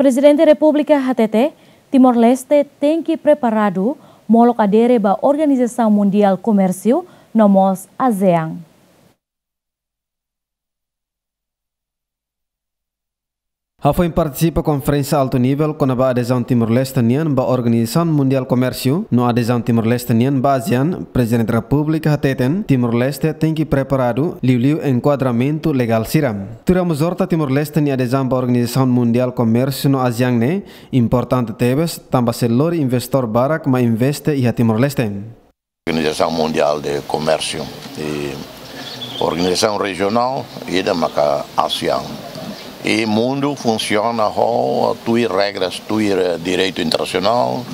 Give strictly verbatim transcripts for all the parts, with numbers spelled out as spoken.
Prezidente Repúblika hatete, Timor-Leste tenke preparadu molok adere ba Organizasaun Mundiál Komérsiu no mós ASEAN. Hafoin partisipa konferénsia altu nivel kona-ba adezaun Timor-Leste nian ba Organizasaun Mundiál Komérsiu no adezaun Timor-Leste nian ba ASEAN, Prezidente Repúblika hateten Timor-Leste tenke preparadu liuliu enkuadramentu legál sira. Tuir Ramos Horta, Timor-Leste nia adezaun ba Organizasaun Mundiál Komérsiu no ASEAN ne'e importante tebes, tanba sei lori investór barak mai investe iha Timor-Leste. Organizasaun Mundiál de Komérsiu i organizasaun rejionál ida maka ASEAN. I mundu funsiona ho tuir regras, tuir, eh, direitu internasionál.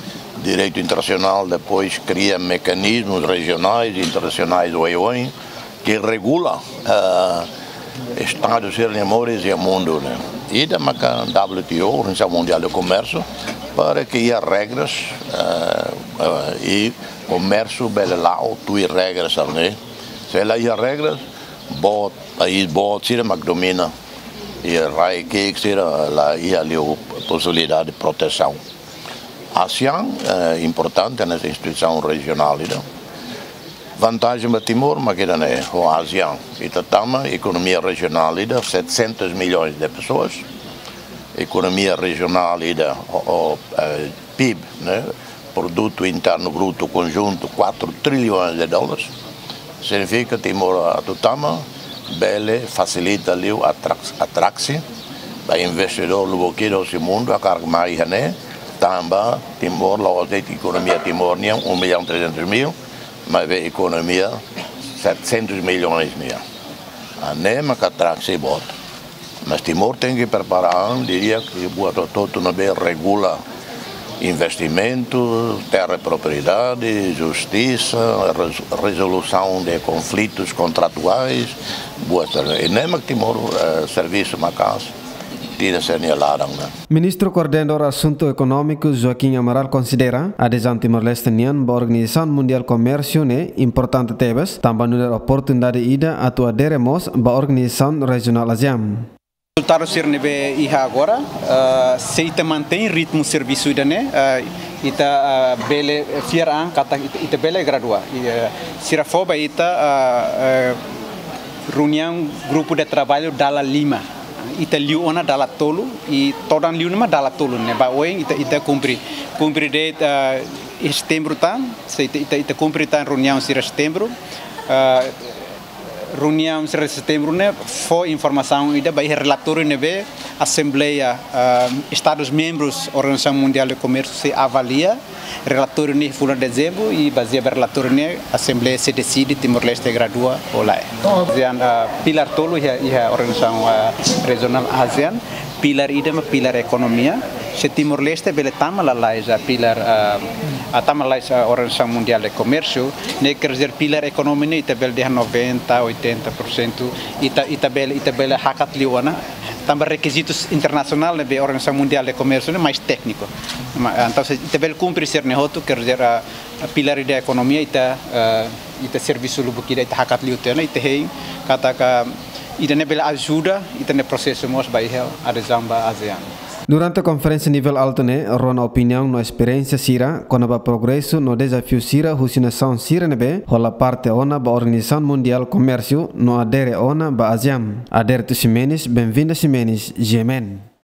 Direitu internasionál depois kria mekanizmus rejionais, internasionais, oioin, ke regula, eh, estadu sira-nia moris iha mundu ne'e. Ida maka W T O, Organizasaun Mundiál de Komérsiu, para ke iha regras, eh, eh, i komérsiu bele la'o tuir regras sira-ne'e. Se la iha regras, boot, país boot sira mak domina. I rai ki'ik sira la iha liu posibilidade de protesaun. ASEAN, eh, importante hanesan instituisaun rejionál ida. Vantajen ba Timor mak ida-ne'e, ho ASEAN ita tama ekonomia rejionál ida, setecentos milhões de pessoas. Ekonomia rejionál ida, ho, ho, eh, PIB, ne'e, Produtu Internu Brutu Konjuntu, quatro trilhões de dólares. Signifika Timor atu tama bele fasilita liu atraksi, atraksi ba investidór lubuk ida husi mundu hakarak mai iha ne'e, tanba Timor la'ós de'it ekonomia Timor nian um milhão trezentos mil, maibé ekonomia setecentos milhões nian. Ah, ne'e maka atraksi boot. Mas Timor tenke prepara an, diria ke buat hotu-hotu ne'ebé regula investimentu, terra propriedade, justisa, res-, rezolusaun de konflitus kontratuais, buat sira-ne'e. I ne'e mak Timor, eh, servisu maka'as, tira sira-nia laran ne'e. Ministru Koordenadór Asuntu Ekonómiku Joaquim Amaral konsidera, adezaun Timor-Leste nian ba Organizasaun Mundiál Komérsiu ne'e importante tebes, tanba nu'udar oportunidade ida atu adere mós ba organizasaun rejionál ASEAN. Rezultadu sira ne'ebé iha agora, eh, se ita mantein ritmu servisu ida-ne'e, eh, ita, eh, bele fiar an katak ita, ita bele gradua. I, eh, sira fó ba ita, eh, eh, reuniaun grupu de traballu dala lima. Ita liu ona dala tolu, i todan liu ne'e mak dala tolu ne'e. Ba oin ita, ita kumpre, kumpre de'it, eh, iha setembru tan, se ita, ita, ita kumpre tan reuniaun sira setembru. Eh, reuniaun sira setembru ne'e fó informasaun ida ba iha relatóriu ne'ebé Asembleia, eh, Estadus membrus Organizasaun Mundiál de Komérsiu sei avalia relatóriu ne'e fulan dezembru i bazeia ba relatóriu ne'e Asembleia sei deside Timor-Leste gradua ou lae. ASEAN, eh, pilar tolu iha, iha organizasaun, eh, rejionál ASEAN, pilar ida mak pilar ekonomia. Se Timor-Leste bele tama lalais, eh, pilar, eh, ah, tama lalais, eh, Organizasaun Mundiál de Komérsiu, ne'e quer dizer pilar ekonomia ne'e ita bele dehan noventa, oitenta por cento, ita, ita bele, ita bele hakat liu ona. Tanba rekizitus internasionál ne'ebé Organizasaun Mundiál de Komérsiu ne'e mais tékniku. Ma, entaun se ita bele kumpre sira-ne'e hotu, quer dizer, ah, pilar ida ekonomia ita, eh, ita servisu lubuk ida ita hakat liu tiha ona, ita hein katak ida-ne'e bele ajuda ita-nia prosesu mós ba iha adezaun ba ASEAN. Durante konferénsia nivel altu ne'e, rona opiniaun no esperiénsia sira kona-ba progresu no dezafiu sira husi nasaun sira ne'ebé hola parte ona ba Organizasaun Mundiál Komérsiu no adere ona ba ASEAN. Aderito Ximenes, Benvinda Ximenes, G M N.